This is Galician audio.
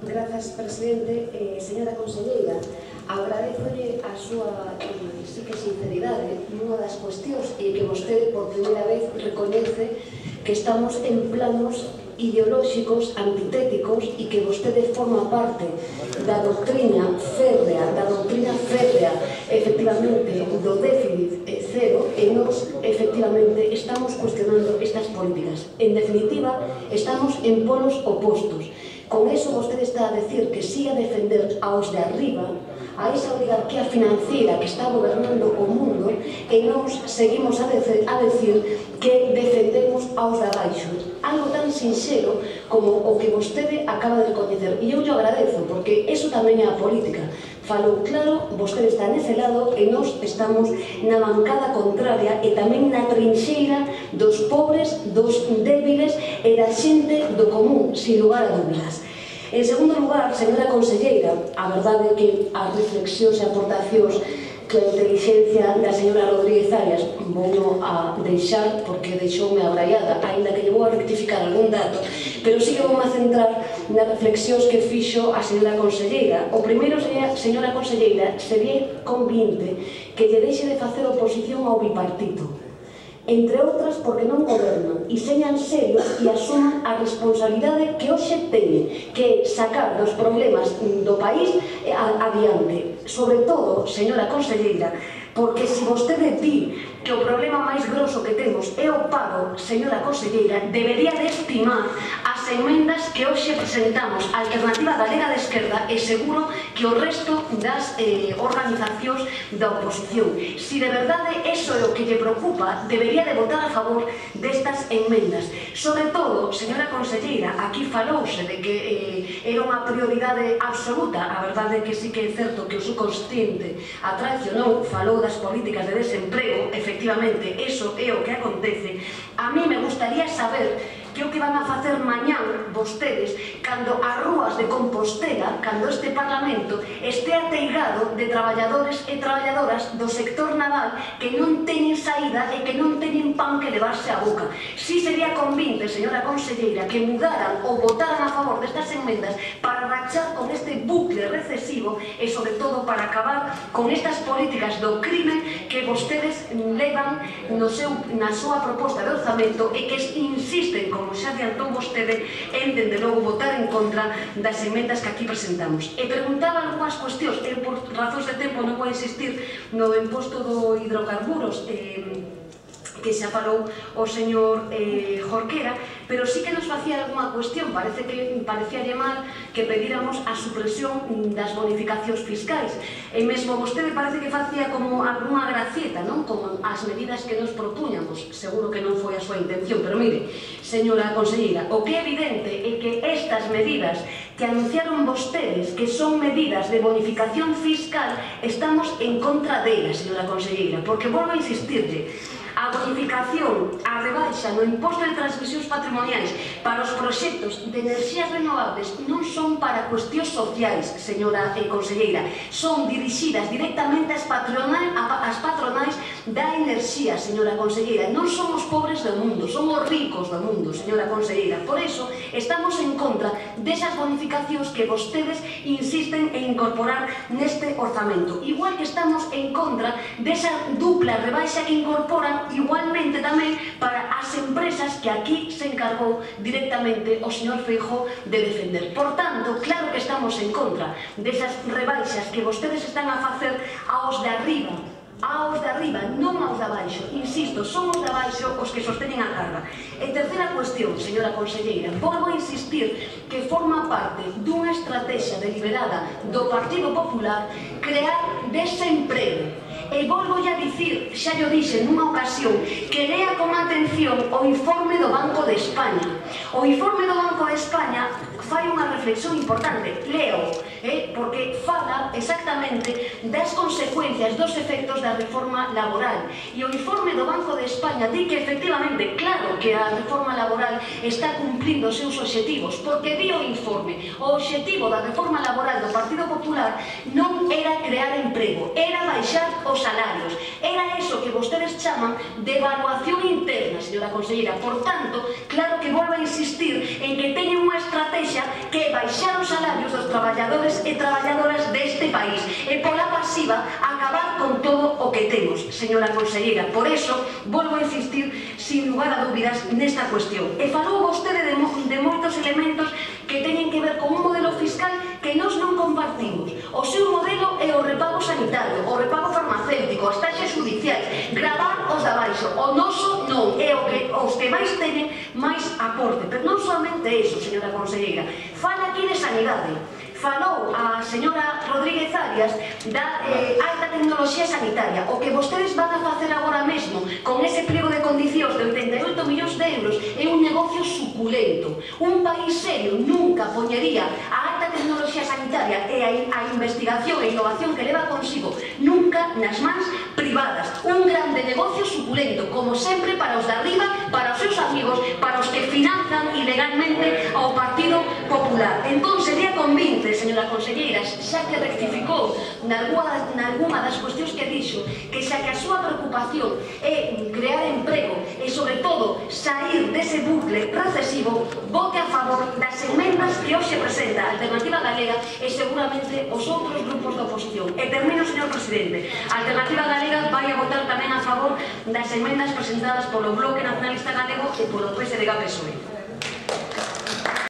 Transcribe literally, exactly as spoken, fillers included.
Grazas, presidente. Eh, señora conselleira, agradézolle a súa eh, sí que sinceridade nunha das cuestións e que vostede por primeira vez recoñece que estamos en planos ideolóxicos antitéticos e que vostede forma parte da doctrina férrea, da doctrina férrea, efectivamente, do déficit cero, e nos, efectivamente, estamos cuestionando estas políticas. En definitiva, estamos en polos opostos. Con eso vostede está a decir que siga a defender aos de arriba, a esa oligarquía financiera que está gobernando o mundo, e nos seguimos a decir, a decir que defendemos aos de abaixo. Algo tan sincero como o que vostede acaba de recoñecer. E eu lle agradezo, porque eso tamén é a política. Falou claro, vostede está nese lado e nós estamos na bancada contraria e tamén na trinxeira dos pobres, dos débiles e da xente do común, sin lugar a dúbidas. En segundo lugar, señora conselleira, a verdade é que as reflexións e aportacións que a inteligencia da señora Rodríguez Arias vou a deixar porque deixoume abraiada, aínda que lle vou a rectificar algún dato, pero sí que vou a centrar nas reflexións que fixo a señora conselleira. O primeiro, señora conselleira, sería convinte que lle deixe de facer oposición ao bipartito, entre outras porque non gobernan, e señan serios e asuman a responsabilidade que hoxe teñen, que é sacar dos problemas do país adiante. Sobre todo, señora conselleira, porque se vostede di que o problema máis grosso que temos é o paro, señora conselleira, debería de estimar as emendas que hoxe presentamos a Alternativa Galega de Esquerda e seguro que o resto das eh, organizacións da oposición. Si de verdade eso é o que lle preocupa, debería de votar a favor destas emendas. Sobre todo, señora conselleira, aquí falouse de que eh, era unha prioridade absoluta. A verdade é que sí que é certo que o subconsciente a traicionou, falou das políticas de desemprego. Efectivamente, eso é o que acontece. A mí me gustaría saber que o que van a facer mañán vostedes cando as rúas de Compostela, cando este Parlamento este ateigado de traballadores e traballadoras do sector naval que non teñen saída e que non teñen pan que levarse á boca. Si sería convinte, señora conselleira, que mudaran ou votaran a favor destas enmendas para rachar con este bucle recesivo e, sobre todo, para acabar con estas políticas do crime que vostedes levan no seu, na súa proposta de orzamento e que insisten, como xa adiantou vostede, en, dende logo, votar en contra das emendas que aquí presentamos. E preguntaba algunhas cuestións, e por razóns de tempo non vou insistir no imposto do hidrocarburos, eh, que xa falou o señor eh, Jorquera, pero sí que nos facía algunha cuestión. Parece que parecíalle mal que pedíramos a supresión das bonificacións fiscais, e mesmo vostede parece que facía como algunha gracieta, non? Como as medidas que nos propuñamos. Seguro que non foi a súa intención, pero mire, señora conselleira, o que é evidente é que estas medidas que anunciaron vostedes, que son medidas de bonificación fiscal, estamos en contra delas, señora conselleira, porque volvo a insistirlle, a bonificación, a rebaixa no imposto de transmisións patrimoniais para os proxectos de enerxías renovables non son para cuestións sociais, señora eh, conselleira, son dirixidas directamente ás patronais, ás patronais da enerxía, señora conselleira. Non son os pobres do mundo, son os ricos do mundo, señora conselleira. Por eso estamos en contra desas bonificacións que vostedes insisten en incorporar neste orzamento. Igual que estamos en contra desa dupla rebaixa que incorporan igualmente tamén para as empresas que aquí se encargou directamente o señor Feijóo de defender. Por tanto, claro que estamos en contra desas rebaixas que vostedes están a facer aos de arriba, aos de arriba, non aos de abaixo. Insisto, son os de abaixo os que sosteñen a carga. E terceira cuestión, señora conselleira, volvo a insistir que forma parte dunha estrategia deliberada do Partido Popular crear desemprego. E volvo a dicir, xa llo dixe nunha ocasión, que lea con atención o informe do Banco de España. O informe do Banco de España fai unha reflexión importante, leo, eh, porque fala exactamente das consecuencias, dos efectos da reforma laboral. E o informe do Banco de España di que, efectivamente, claro que a reforma laboral está cumplindo os seus obxectivos, porque di o informe, o obxectivo da reforma laboral do Partido Popular non era crear emprego, era baixar os salarios. Era eso que vostedes chaman de evaluación interna, señora conselleira. Por tanto, claro que volvo a insistir en que teñen unha estrategia que é baixar os salarios dos traballadores e traballadoras deste país e pola pasiva acabar con todo o que temos, señora conselleira. Por eso, volvo a insistir, sin lugar a dúbidas, nesta cuestión. E falou vostede de, mo de moitos elementos que teñen que ver con un modelo fiscal que nós non compartimos. O seu modelo é o repago sanitario, o repago farmacéutico, as taxas judiciais, gravar os de abaixo. O noso non, é o que os que máis teñen máis aporte. Pero non solamente eso, señora conselleira. Fala aquí de sanidade. Falou a señora Rodríguez Arias da eh, alta tecnoloxía sanitaria. O que vostedes van a facer agora mesmo con ese pliego de condicións de oitenta e oito millóns de euros é un negocio suculento. Un país serio nunca poñería a alta tecnoloxía sanitaria e a, a investigación e innovación que leva consigo nunca nas mans privadas. Un grande negocio suculento, como sempre, para os de arriba, para os seus amigos, para os que financian ilegalmente ao Partido Popular. Entón, sería convinte, señora conselleira, xa que rectificou nalgúna das cuestións que dixo, que xa que a súa preocupación é crear emprego e, sobre todo, sair dese bucle recesivo, vote a favor das emendas que hoxe presenta a Alternativa Galega e seguramente os outros grupos da oposición. E termino, señor presidente, a Alternativa Galega vai a votar tamén a favor das emendas presentadas polo Bloque Nacionalista Galego e polo P S D G P S O E.